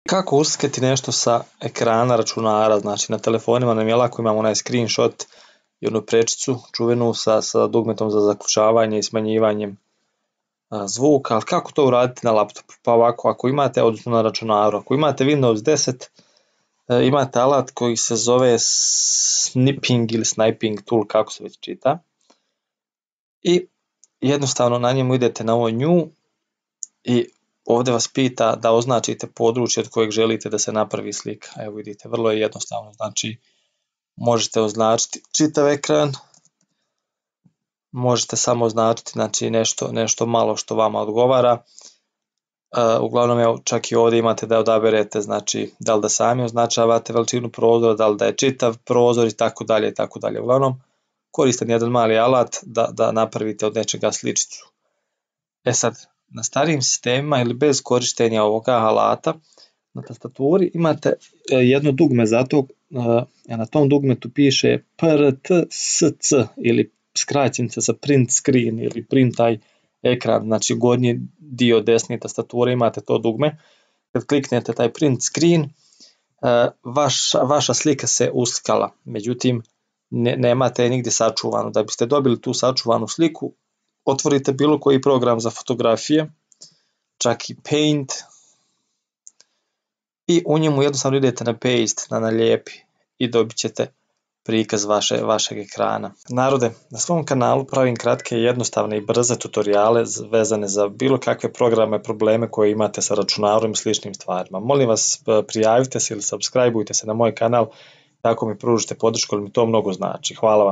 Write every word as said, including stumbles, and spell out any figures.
Kako uslikati nešto sa ekrana računara, znači na telefonima nam je lako, imamo onaj screenshot i onu prečicu čuvenu sa, sa dugmetom za zaključavanje i smanjivanjem a, zvuka, ali kako to uraditi na laptopu? Pa ovako, ako imate, odnosno na računaru, ako imate Windows deset, e, imate alat koji se zove snipping ili sniping tool, kako se već čita, i jednostavno na njemu idete na ovo new i ovdje vas pita da označite područje od kojeg želite da se napravi slika. Evo vidite, vrlo je jednostavno, znači možete označiti čitav ekran, možete samo označiti znači, nešto, nešto malo što vama odgovara. Uh, uglavnom evo, čak i ovdje imate da odaberete znači da li da sami označavate veličinu prozora, da li da je čitav prozor i tako dalje i tako dalje. Uglavnom koristan jedan mali alat da, da napravite od nečega sličicu. E sad, na starijim sistemima ili bez korištenja ovoga alata, na tastaturi imate jedno dugme za to, a na tom dugmetu piše P R T S C ili skraćenica za print screen ili print taj ekran, znači gornji dio desne tastature imate to dugme. Kad kliknete taj print screen, vaša, vaša slika se uslikala, međutim ne, nemate je nigdje sačuvanu. Da biste dobili tu sačuvanu sliku, otvorite bilo koji program za fotografije, čak i Paint, i u njemu jednostavno idete na paste, na nalijepi i dobit ćete prikaz vaše, vašeg ekrana. Narode, na svom kanalu pravim kratke, jednostavne i brze tutoriale vezane za bilo kakve programe, probleme koje imate sa računarom i sličnim stvarima. Molim vas, prijavite se ili subscribeujte se na moj kanal, tako mi pružite podršku, jer mi to mnogo znači. Hvala vam.